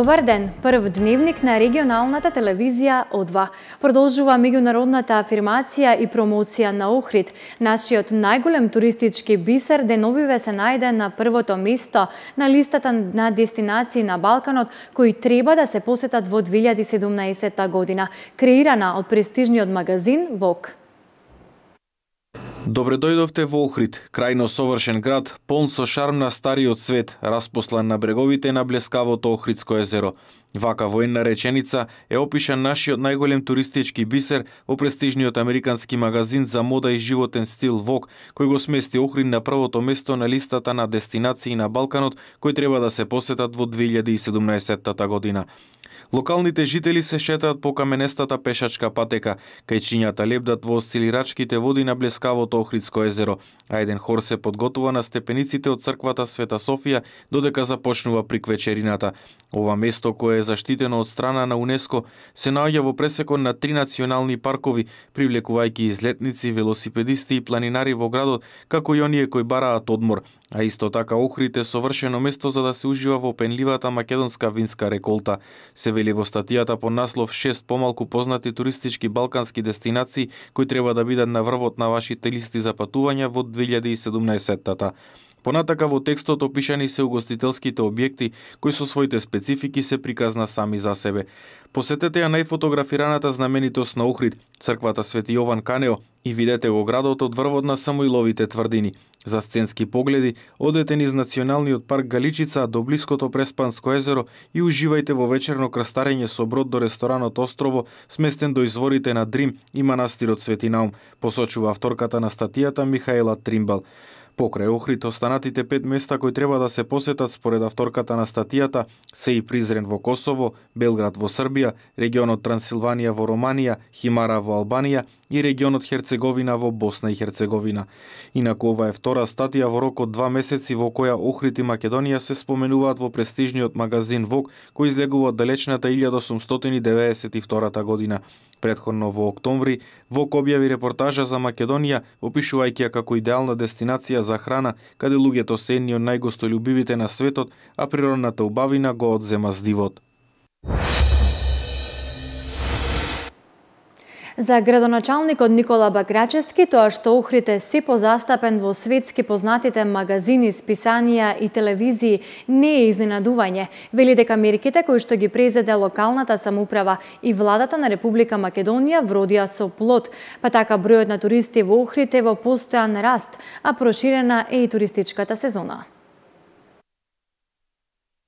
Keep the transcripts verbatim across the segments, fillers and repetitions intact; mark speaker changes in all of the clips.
Speaker 1: Добар ден, прв дневник на регионалната телевизија О два. Продолжува меѓународната афирмација и промоција на Охрид. Нашиот најголем туристички бисер деновиве се најде на првото место на листата на дестинации на Балканот, кои треба да се посетат во две илјади и седумнаесетта година, креирана од престижниот магазин Vogue.
Speaker 2: Добре дојдовте во Охрид, крајно совршен град, полн со шарм на стариот свет, распослан на бреговите на блескавото Охридско езеро. Вака во една реченица е опишан нашиот најголем туристички бисер во престижниот американски магазин за мода и животен стил Vogue, кој го смести Охрид на првото место на листата на дестинации на Балканот, кои треба да се посетат во две илјади и седумнаесетта година. Локалните жители се шетаат по каменестата пешачка патека, кај чинјата лебдат во осцилирачките води на блескавото Охридско езеро, а еден хор се подготува на степениците од црквата Света Софија додека започнува приквечерината. Ова место, кое е заштитено од страна на УНЕСКО, се наоѓа во пресекон на три национални паркови, привлекувајќи излетници, велосипедисти и планинари во градот, како и оние кои бараат одмор. А исто така Охрид е совршено место за да се ужива во пенливата македонска винска реколта. Се вели во статијата под наслов шест помалку познати туристички балкански дестинации кои треба да бидат на врвот на вашите листи за патувања во две илјади и седумнаесетта. Понатака во текстот опишани се угостителските објекти кои со своите специфики се приказна сами за себе. Посетете ја најфотографираната знаменитост на Охрид, црквата Свети Јован Канео, и видете го градот од врвот на Самуиловите тврдини. За сценски погледи, одете низ националниот парк Галичица до блиското Преспанско езеро и уживајте во вечерно крстарење со брод до ресторанот Острово, сместен до изворите на Дрим и манастирот Свети Наум, посочува авторката на статијата Михаела Тримбал. Покрај Охрид, останатите пет места кои треба да се посетат според авторката на статијата се и Призрен во Косово, Белград во Србија, регионот Трансилванија во Романија, Химара во Албанија и регионот Херцеговина во Босна и Херцеговина. Инаку ова е втора статија во рок од два месеци во која Охрид и Македонија се споменуваат во престижниот магазин Vogue, кој излегува од далечната илјада осумстотини деветдесет и втора година. Предходно во октомври, Vogue објави репортажа за Македонија, опишувајќи ја како идеална дестинација за храна, каде луѓето се едни од најгостолюбивите на светот, а природната убавина го одзема здивот.
Speaker 1: За градоначалникот Никола Бакрачевски, тоа што Охрид е се позастапен во светски познатите магазини, списанија и телевизии не е изненадување. Вели дека мерките кои што ги презеде локалната самоуправа и владата на Република Македонија вродија со плод, па така бројот на туристи во Охрид е во постојан раст, а проширена е и туристичката сезона.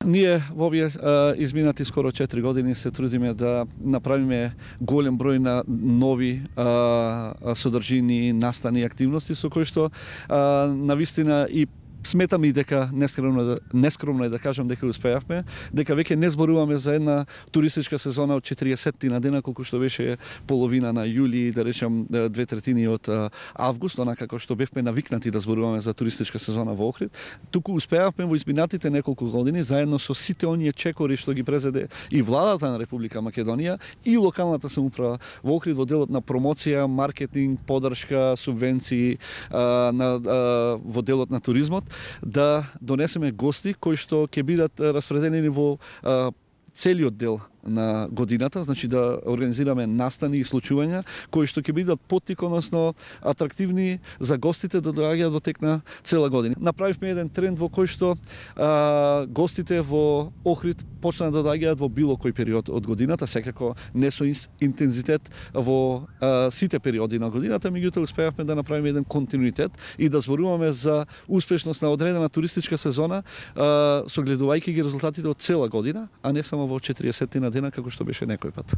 Speaker 3: Ние во овие изминати скоро четири години се трудиме да направиме голем број на нови а, содржини, настани, активности со кои што а, навистина и сметам и дека нескромно, нескромно е да кажам дека успеавме, дека веќе не зборуваме за една туристичка сезона од четириесетти на дена, колку што беше половина на јули, да речем две третини од август, онака како што бевме навикнати да зборуваме за туристичка сезона во Охрид. Туку успеавме во изминатите неколку години, заедно со сите оние чекори што ги презеде и владата на Република Македонија и локалната самоуправа во Охрид во делот на промоција, маркетинг, поддршка, субвенции, а, на, а, во делот на туризмот, да донесеме гости кои што ќе бидат распределени во а, целиот дел на годината, значи да организираме настани и случувања кои што ќе бидат поттик, односно атрактивни за гостите да доаѓаат во тек на цела година. Направивме еден тренд во кој што а, гостите во Охрид почнаа да доаѓаат во било кој период од годината, секако не со интензитет во а, сите периоди на годината, меѓутоа успеавме да направиме еден континуитет и да зборуваме за успешност на одредена туристичка сезона, а, согледувајќи ги резултатите од цела година, а не само во четириесетти на дена како што беше некој пат.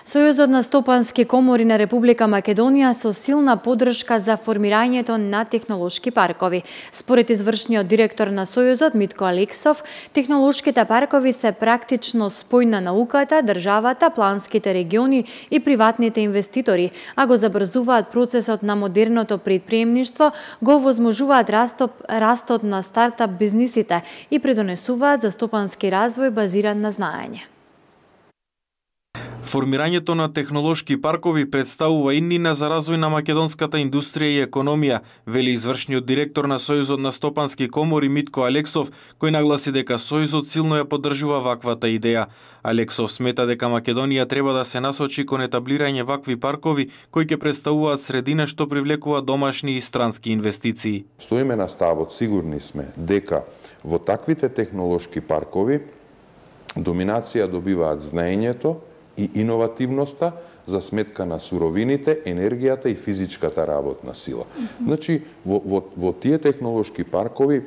Speaker 1: Сојузот на стопански комори на Република Македонија со силна поддршка за формирањето на технолошки паркови. Според извршниот директор на Сојузот Митко Алексов, технолошките паркови се практично спој на науката, државата, планските региони и приватните инвеститори, а го забрзуваат процесот на модерното предприемништво, го овозможуваат растот, растот на стартап бизнисите и придонесуваат за стопански развој базиран на знаење.
Speaker 2: Формирањето на технолошки паркови представува иднина за развој на македонската индустрија и економија, вели извршниот директор на Сојузот на стопански комори Митко Алексов, кој нагласи дека Сојузот силно ја поддржува ваквата идеја. Алексов смета дека Македонија треба да се насочи кон етаблирање вакви паркови кои ќе представуваат средина што привлекува домашни и странски инвестиции.
Speaker 4: Стоиме на ставот, сигурни сме дека во таквите технолошки паркови доминација добиваат знаењето и иновативноста за сметка на суровините, енергијата и физичката работна сила. Значи, во, во, во тие технолошки паркови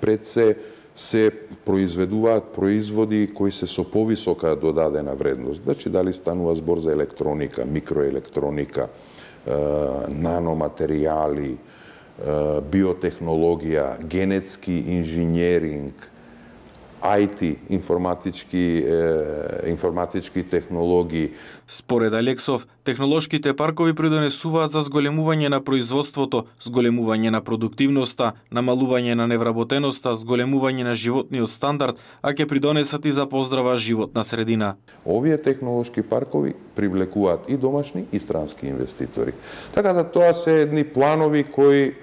Speaker 4: пред се се произведуваат производи кои се со повисока додадена вредност. Значи, дали станува збор за електроника, микроелектроника, е, наноматеријали, е, биотехнологија, генетски инженеринг, ај ти, информатички, е, информатички технологии.
Speaker 2: Според Алексов, технолошките паркови придонесуваат за зголемување на производството, зголемување на продуктивноста, намалување на невработеноста, зголемување на животниот стандард, а ќе придонесат и за поздрава животна средина.
Speaker 4: Овие технолошки паркови привлекуваат и домашни и странски инвеститори. Така да тоа се едни планови кои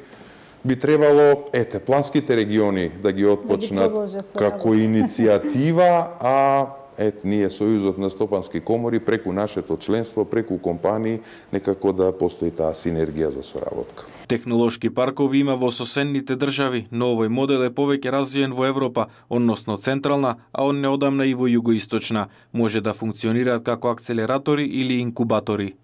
Speaker 4: би требало, ете, планските региони да ги отпочнат да ги како иницијатива, а ете, ние Сојузот на стопански комори преку нашето членство, преку компании, некако да постои таа синергија за соработка.
Speaker 2: Технолошки паркови има во соседните држави, но овој модел е повеќе развиен во Европа, односно централна, а он неодамна и во југоисточна. Може да функционираат како акцелератори или инкубатори.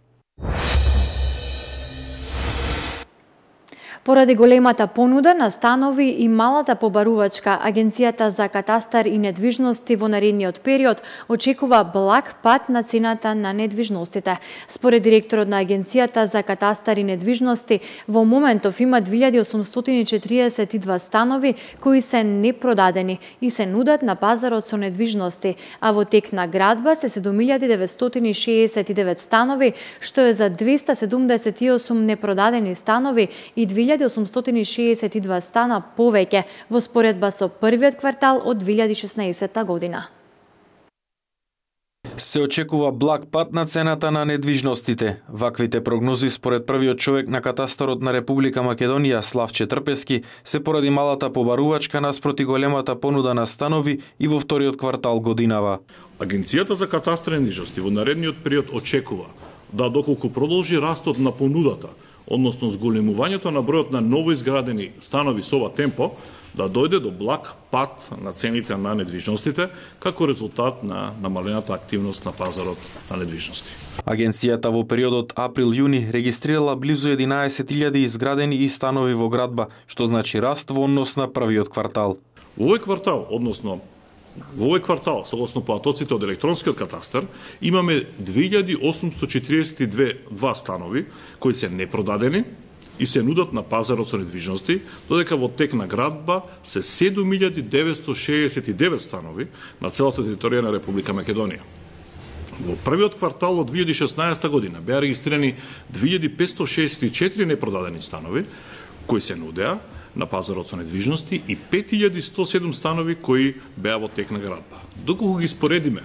Speaker 1: Поради големата понуда на станови и малата побарувачка, Агенцијата за катастар и недвижности во наредниот период очекува благ пат на цената на недвижностите. Според директорот на Агенцијата за катастар и недвижности, во моментов има две илјади осумстотини и четириесет и два станови кои се непродадени и се нудат на пазарот со недвижности, а во тек на градба се седум илјади деветстотини шеесет и девет станови, што е за двеста седумдесет и осум непродадени станови и две илјади осумстотини шеесет и два стана повеќе во споредба со првиот квартал од две илјади шеснаесетта година.
Speaker 2: Се очекува благ пат на цената на недвижностите. Ваквите прогнози според првиот човек на катастарот на Република Македонија, Славче Трпески, се поради малата побарувачка наспроти големата понуда на станови и во вториот квартал годинава.
Speaker 5: Агенцијата за катастар и недвижности во наредниот период очекува да доколку продолжи растот на понудата, односно зголемувањето на бројот на новоизградени станови со ова темпо, да дојде до благ пат на цените на недвижностите како резултат на намалената активност на пазарот на недвижности.
Speaker 2: Агенцијата во периодот април-јуни регистрирала близу единаесет илјади изградени и станови во градба, што значи раст во однос на првиот квартал.
Speaker 5: Во овој квартал, односно Во овој квартал, согласно поатоците од електронскиот катастар, имаме две илјади осумстотини четириесет и два станови кои се непродадени и се нудат на пазарот со недвижности, додека во тек на градба се седум илјади деветстотини шеесет и девет станови на целата територија на Република Македонија. Во првиот квартал од две илјади шеснаесетта година беа регистрирани две илјади петстотини шеесет и четири непродадени станови кои се нудеа на пазарот со недвижности и пет илјади сто и седум станови кои беа во тек на градба. Доколку ги споредиме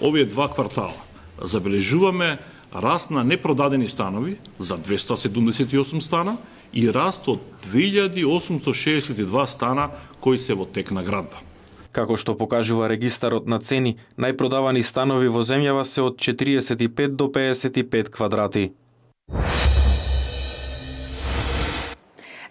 Speaker 5: овие два квартала, забележуваме раст на непродадени станови за двеста седумдесет и осум стана и раст од две илјади осумстотини шеесет и два стана кои се во тек на градба.
Speaker 2: Како што покажува регистарот на цени, најпродавани станови во земјава се од четириесет и пет до пеесет и пет квадрати.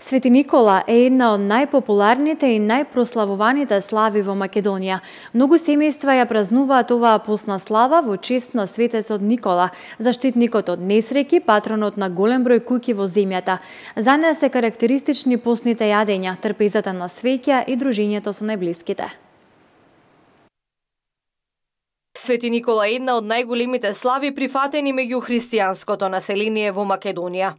Speaker 1: Свети Никола е една од најпопуларните и најпрославуваните слави во Македонија. Многу семејства ја празнуваат оваа постна слава во чест на светецот Никола, заштитникот од несреќи, патронот на голем број куќи во земјата. За неа се карактеристични постните јадења, трпезата на свеќа и дружењето со најблиските.
Speaker 6: Свети Никола е една од најголемите слави прифатени меѓу христијанското население во Македонија.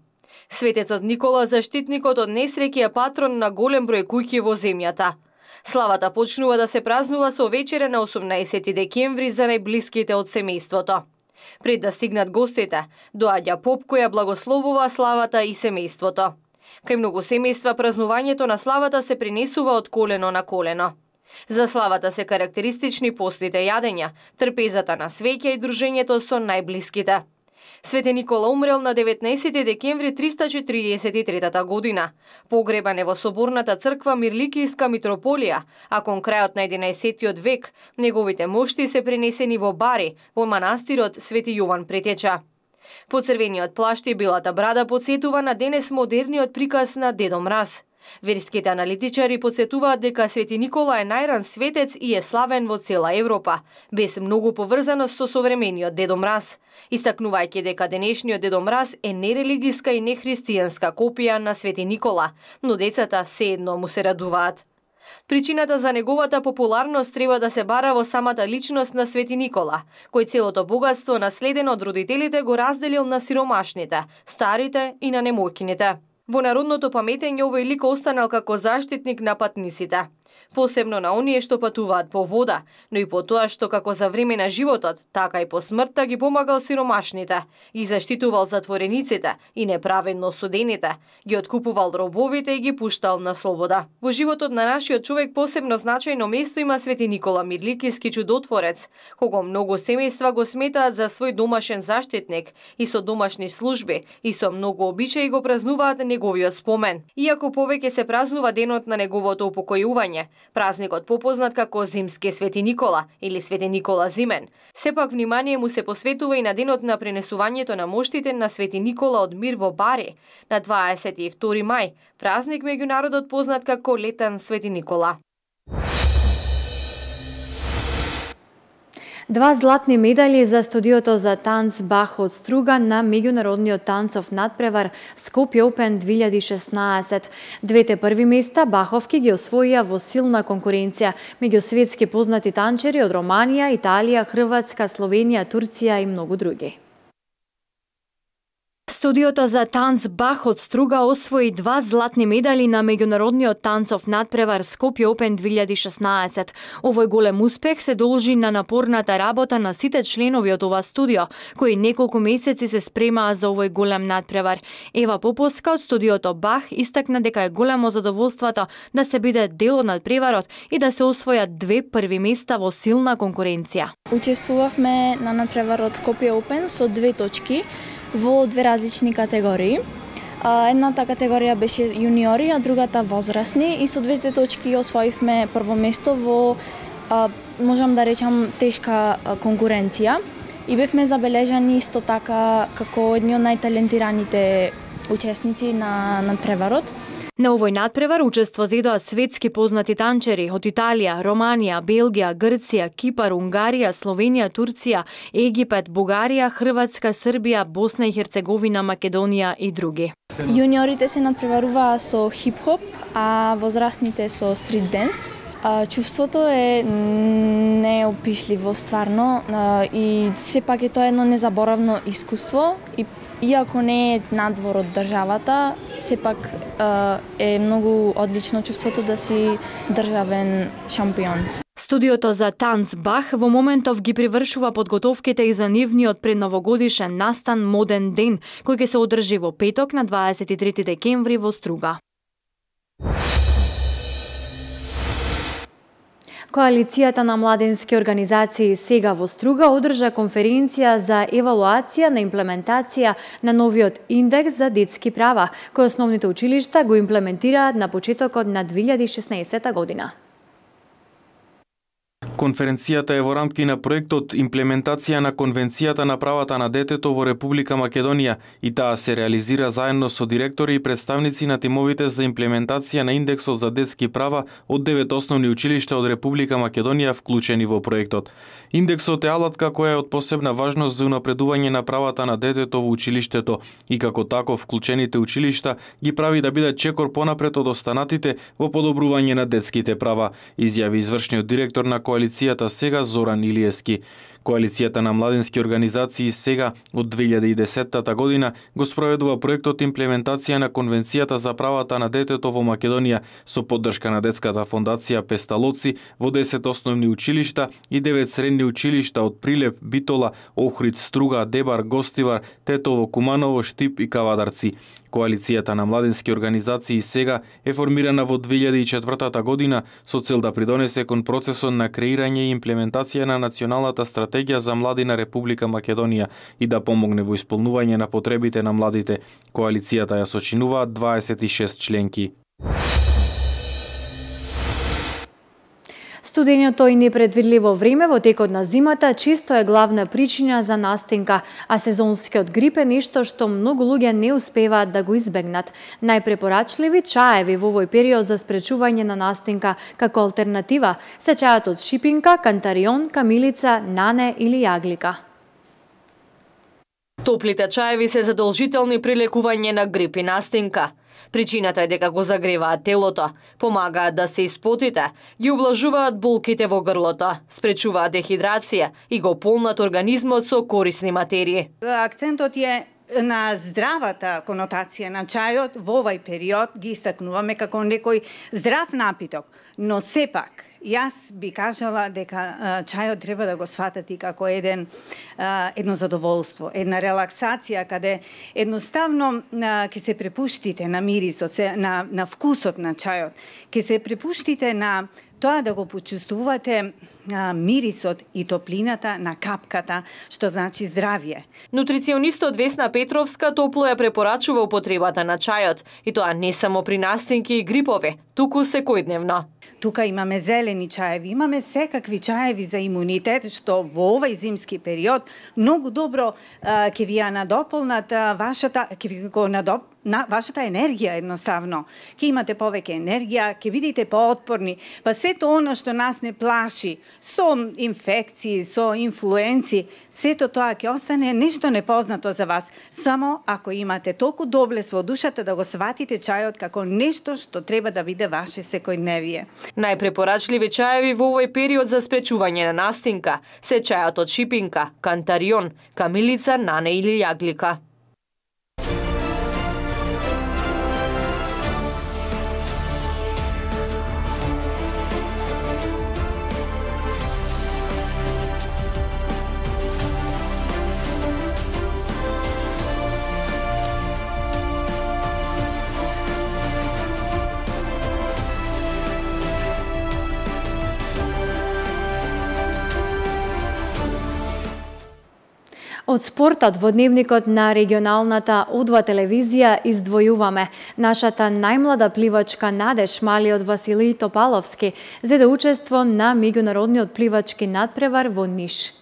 Speaker 6: Светецот Никола, заштитникот од несреќи, е патрон на голем број куќи во земјата. Славата почнува да се празнува со вечере на осумнаесети декември за најблиските од семејството. Пред да стигнат гостите, доаѓа поп кој ја благословува славата и семејството. Кај многу семејства празнувањето на славата се пренесува од колено на колено. За славата се карактеристични постите јадења, трпезата на свеќа и дружењето со најблиските. Свети Никола умрел на деветнаесети декември триста четиридесет и трета година. Погребан е во соборната црква Мирликијска митрополија, а кон крајот на единаесеттиот век неговите мошти се пренесени во Бари, во манастирот Свети Јован Претеча. Поцрвениот плашт и белата брада подсетува на денес модерниот приказ на Дедо Мраз. Верските аналитичари подсетуваат дека Свети Никола е најран светец и е славен во цела Европа, без многу поврзаност со современиот Дедо Мраз, истакнувајќи дека денешниот Дедо Мраз е нерелигиска и нехристијанска копија на Свети Никола, но децата сеедно му се радуваат. Причината за неговата популарност треба да се бара во самата личност на Свети Никола, кој целото богатство наследено од родителите го разделил на сиромашните, старите и на немојкините. Во народното паметење овој лик останал како заштитник на патниците, посебно на оние што патуваат по вода, но и по тоа што како за време на животот, така и по смртта ги помагал сиромашните, ги заштитувал затворениците и неправедно осудените, ги откупувал робовите и ги пуштал на слобода. Во животот на нашиот човек посебно значајно место има Свети Никола Мирликијски чудотворец, кого многу семејства го сметаат за свој домашен заштитник и со домашни служби и со многу обичаи го празнуваат неговиот спомен. Иако повеќе се празнува денот на неговото упокојување, празникот попознат како Зимски Свети Никола или Свети Никола Зимен, сепак внимание му се посветува и на денот на пренесувањето на моштите на Свети Никола од мир во Бари на дваесет и втори мај, празник меѓу народот познат како Летен Свети Никола.
Speaker 1: Два златни медали за студиото за танц Бах од струга на меѓународниот танцов надпревар Скопје Опен две илјади и шеснаесет. Двете први места Баховки ги освоија во силна конкуренција меѓу светски познати танчери од Романија, Италија, Хрватска, Словенија, Турција и многу други. Студиото за танц Бах од струга освои два златни медали на меѓународниот танцов надпревар Скопје Опен две илјади и шеснаесет. Овој голем успех се должи на напорната работа на сите членови од ова студио, кои неколку месеци се спремаа за овој голем надпревар. Ева Поповска од студиото Бах истакна дека е големо задоволството да се биде дел од надпреварот и да се освојат две први места во силна конкуренција.
Speaker 7: Учествувавме на надпреварот Скопје Опен со две точки во две различни категории. Едната категорија беше јуниори, а другата возрастни, и со двете точки освоивме прво место во, можам да речам, тешка конкуренција и бевме забележани исто така како едни од најталентираните учесници на надпреварот.
Speaker 1: На овој надпревар учество зедоа светски познати танчери од Италија, Романија, Белгија, Грција, Кипар, Унгарија, Словенија, Турција, Египет, Бугарија, Хрватска, Србија, Босна и Херцеговина, Македонија и други.
Speaker 7: Јуниорите се надпреваруваа со хип-хоп, а возрастните со стрит денс. Чувството е неопишливо стварно и сепак е тоа едно незаборавно искуство и иако не е надвор од државата, сепак е многу одлично чувството да си државен шампион.
Speaker 1: Студиото за танц Бах во моментов ги привршува подготовките и за нивниот предновогодишен настан Моден ден, кој ќе се одржи во петок на дваесет и трети декември во Струга. Коалицијата на младенски организации Сега во Струга одржа конференција за евалуација на имплементација на новиот индекс за детски права, кој основните училишта го имплементираат на почетокот на две илјади и шеснаесета година.
Speaker 2: Конференцијата е во рамки на проектот Имплементација на Конвенцијата на правата на детето во Република Македонија и таа се реализира заедно со директори и представници на тимовите за имплементација на индексот за детски права од девет основни училишта од Република Македонија вклучени во проектот. Индексот е алатка која е од посебна важност за унапредување на правата на детето во училиштето и како таков вклучените училишта ги прави да бидат чекор понапред од останатите во подобрување на детските права, изјави извршниот директор на коалицијата Сега Зоран Илиевски. Коалицијата на младински организации сега од две илјади и десетта година го спроведува проектот имплементација на Конвенцијата за правата на детето во Македонија со поддршка на Детската фондација Песталоци во десет основни училишта и девет средни училишта од Прилеп, Битола, Охрид, Струга, Дебар, Гостивар, Тетово, Куманово, Штип и Кавадарци. Коалицијата на младински организации сега е формирана во две илјади и четвртата година со цел да придонесе кон процесот на креирање и имплементација на националната стратегија за млади на Република Македонија и да помогне во исполнување на потребите на младите. Коалицијата ја сочинуваат дваесет и шест членки.
Speaker 1: Студеното и непредвидливо време во текот на зимата често е главна причина за настинка, а сезонскиот грип е нешто што многу луѓе не успеваат да го избегнат. Најпрепорачливи чаеви во овој период за спречување на настинка како алтернатива се чајот од шипинка, кантарион, камилица, нане или јаглика.
Speaker 6: Топлите чаеви се задолжителни при лекување на грип и настинка. Причината е дека го загреваат телото, помагаат да се испотите, ги облажуваат болките во грлото, спречуваат дехидрација и го полнат организмот со корисни материи.
Speaker 8: Акцентот е на здравата конотација на чајот во овај период ги истакнуваме како некој здрав напиток, но сепак јас би кажала дека чајот треба да го сватати како еден едно задоволство, една релаксација каде едноставно ќе се препуштите на мирисот, на на вкусот на чајот, ќе се препуштите на тоа да го почувствувате а, мирисот и топлината на капката, што значи здравје.
Speaker 6: Нутриционистот Весна Петровска топло ја препорачува употребата на чајот, и тоа не само при настинки и грипови, туку секојдневно.
Speaker 8: Тука имаме зелени чаеви, имаме секакви чаеви за имунитет, што во овај зимски период многу добро а, ќе ви ја надополнат а, вашата, ќе ви го надоп, на вашата енергија едноставно. Ќе имате повеќе енергија, ќе бидете поотпорни, па сето оно што нас не плаши, со инфекции, со инфлуенци, сето тоа ќе остане нешто непознато за вас, само ако имате толку доблес во душата да го сватите чајот како нешто што треба да биде ваше секојдневие.
Speaker 6: Најпрепорачливи чаеви во овој период за спречување на настинка се чајот од шипинка, кантарион, камилица, нане или јаглика.
Speaker 1: Од спортот во дневникот на регионалната О два телевизија издвојуваме нашата најмлада пливачка Надеж, малиот Василий Топаловски, зеде учество на меѓународниот пливачки надпревар во Ниш.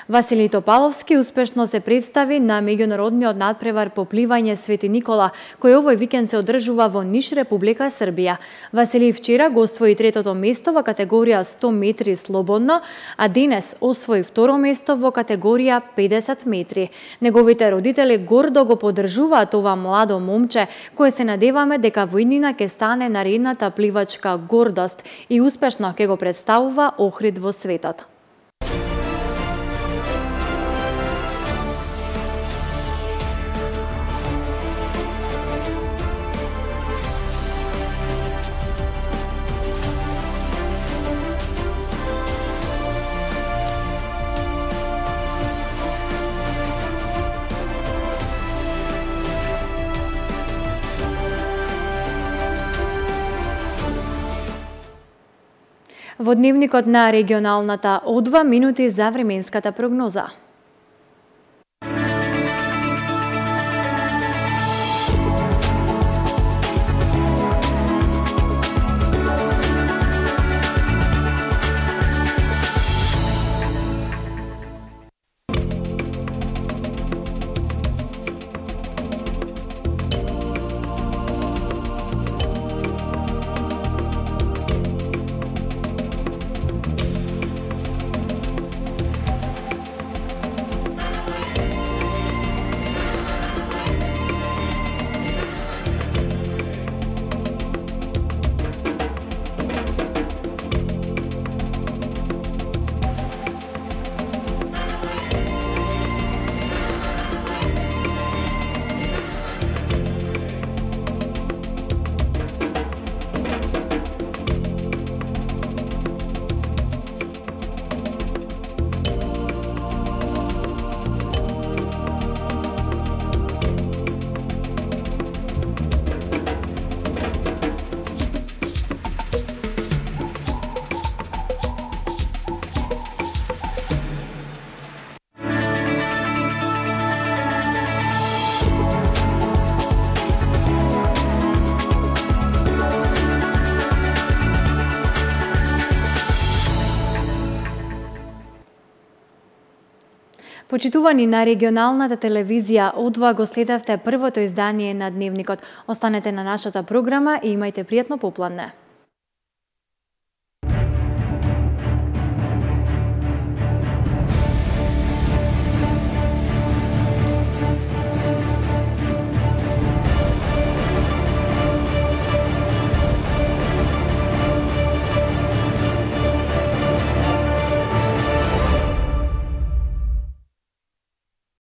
Speaker 1: Василий Топаловски успешно се представи на меѓународниот надпревар по пливање Свети Никола, кој овој викенд се одржува во Ниш, Република Србија. Василий вчера го освои третото место во категорија сто метри слободно, а денес освои второ место во категорија педесет метри. Неговите родители гордо го поддржуваат ова младо момче, кое се надеваме дека во иднина ќе стане наредната пливачка гордост и успешно ќе го представува Охрид во светот. Во дневникот на регионалната О два минути за временската прогноза. Почитувани на регионалната телевизија, одва го следевте првото издание на Дневникот. Останете на нашата програма и имајте пријатно попладне.